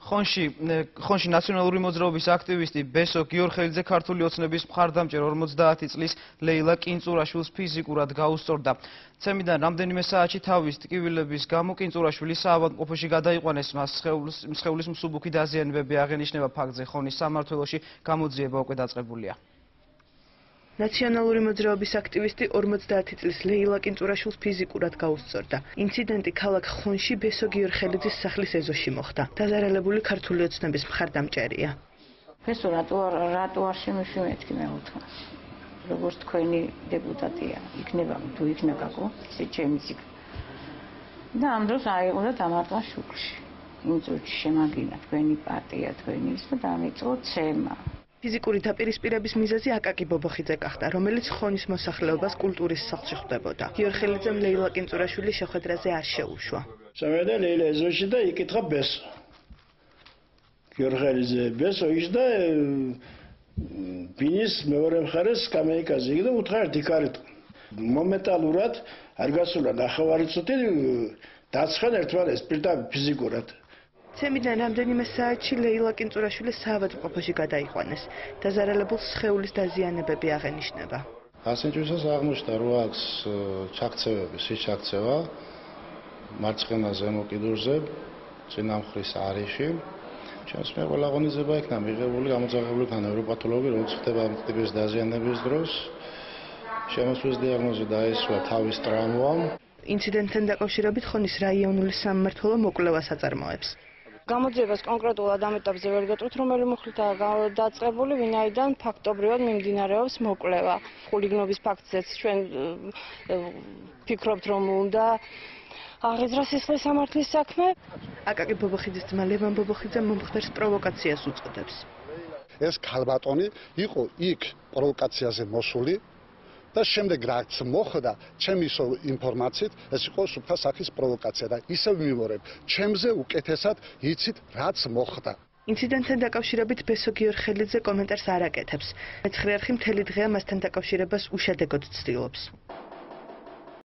ხონში ნაციონალური მოძრაობის აქტივისტი ბესო გიორხელიძე ქართული ოცნების მხარდამჭერ 50 წლის ლეილა კინწურაშვილს ფიზიკურად გაუსწორდა. ცემიდან რამდენიმე საათში თავის ტკივილების გამო კინწურაშვილი საავადმყოფოში გადაიყვანეს. მას სხეულის მსუბუქი დაზიანებები აღენიშნება ფაქტზე. ხონის სამმართველოში გამოძიება უკვე დაწყებულია. ნაციონალური მოძრაობის აქტივისტი 50 წლის ლეილა კინწურაშვილს ფიზიკურად გაუსწორდა. ინციდენტი ქალაქ ხონში ბესო გიორხელიძის სახლის ეზოში მოხდა. დაზარალებული ქართული ოცნების მხარდამჭერია. ბესო რატო არ შემეშვი მე უთხრა. როგორც თქვენი დეპუტატია, იქნება თუ იქნა გაკო, ისე ჩემი ციკ. და ამ დროს აიღო და დამარტყა შუქში. იმ წუთში შემაგინა თქვენი პარტია, თქვენი ის და დამიწყო ცემა. ფიზიკური დაპირისპირების მიზეზი აკაკი ბობოხიძე გახდა, რომელიც ხონის მოსახლეობას კულტურის სახლში ხვდებოდა. გიორხელიძემ ლეილა კინწურაშვილის შეხვედრაზე არ შეუშვა. წავედა ლეილა ეზოში და იკითხა ბესო. გიორხელიძე ბესო ისდა ბინის მეორე მხარეს კამეიკაზე იგი და უთხრა ერთი კარით. მომენტალურად არ გასულა ნახევარი წუთი დაცხენ ერთმანეთს პირდაპირ ფიზიკურად. ცემიდან რამდენიმე საათში ლეილა კინწურაშვილის საავადმყოფოში გადაიყვანეს. დაზარალებულს სხეულის დაზიანებები აღენიშნება. ასენჭვისას აღმოჩნდა, რომ აქვს ჩაქცევები, სიჩაქცევა მარცხენა ზემო კიდურზე, წინა მხრის არეში. ჩემს მე ყველა აღონიზება იქნა მიღებული, გამოძახებული იქნა ნევროპათოლოგი, რომელიც ხდება ამ ტიპის დაზიანების დროს. შემოსვლის დიაგნოზი დაისვა თავის ტრავმა. ინციდენტთან დაკავშირებით ხონის რაიონული სამმართველო მოკვლევას აწარმოებს. გამოძიებას კონკრეტულად ამ ეტაპზე ვერ გეტყვით, რომელი მუხლითაა დაწყებული, ვინაიდან ფაქტობრივად მიმდინარეობს მოკვლევა. ხულიგნობის ფაქტზეც ჩვენ ფიქრობთ, რომ უნდა აღიძრას სისხლის სამართლის საქმე. აკაკი ბობოხიძის ძმა ლევან ბობოხიძე მომხდარს პროვოკაციას უწოდებს. ეს ქალბატონი იყო იქ პროვოკაციაზე მოსული. და შემდეგ რაც მოხდა, ჩემი ინფორმაციით, ეს იყო სუფთა სახის პროვოკაცია და ისევ მივორებ, ჩემზე უკეთესად იცით რაც მოხდა. ინციდენტთან დაკავშირებით ბესო გიორხელიძე კომენტარს არ აკეთებს. მეცხრე არხი მთელი დღეა მასთან დაკავშირებას უშედეგოდ ცდილობს.